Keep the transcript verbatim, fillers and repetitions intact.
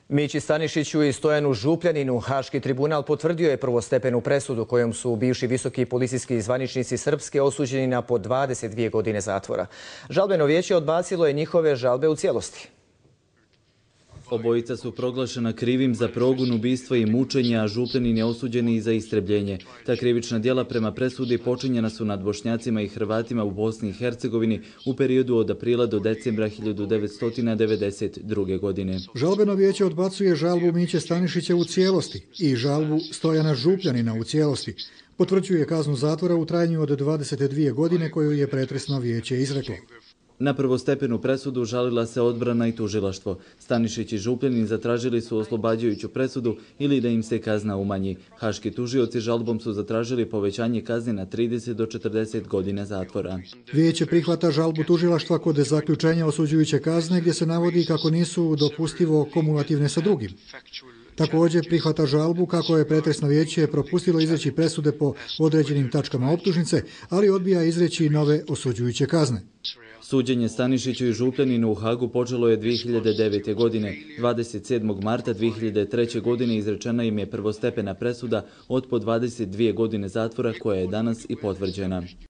Mići Stanišiću i Stojanu Župljaninu Haški tribunal potvrdio je prvostepenu presudu kojom su bivši visoki policijski zvaničnici Srpske osuđeni na po dvadeset dvije godine zatvora. Žalbeno vijeće odbacilo je njihove žalbe u cijelosti. Obojica su proglašena krivim za progon, ubistvo i mučenje, a Župljanin je osuđen i za istrebljenje. Ta krivična djela prema presudi počinjena su nad Bošnjacima i Hrvatima u Bosni i Hercegovini u periodu od aprila do decembra hiljadu devetsto devedeset druge. godine. Žalbeno vijeće odbacuje žalbu Miće Stanišića u cijelosti i žalbu Stojana Župljanina u cijelosti. Potvrđuje kaznu zatvora u trajanju od dvadeset dvije godine koju je pretresno vijeće izreklo. Na prvostepenu presudu žalila se odbrana i tužilaštvo. Stanišić i Župljanin zatražili su oslobađajuću presudu ili da im se kazna umanji. Haški tužioci žalbom su zatražili povećanje kazne na trideset do četrdeset godina zatvora. Vijeće prihvata žalbu tužilaštva kod zaključenja osuđujuće kazne gdje se navodi kako nisu dopustivo kumulativne sa drugim. Također prihvata žalbu kako je pretresno vijeće propustilo izreći presude po određenim tačkama optužnice, ali odbija izreći nove osuđujuće kazne. Suđenje Stanišiću i Župljaninu u Hagu počelo je dvije hiljade devete. godine. dvadeset sedmog marta dvije hiljade treće. godine izrečena im je prvostepena presuda od po dvadeset dvije godine zatvora koja je danas i potvrđena.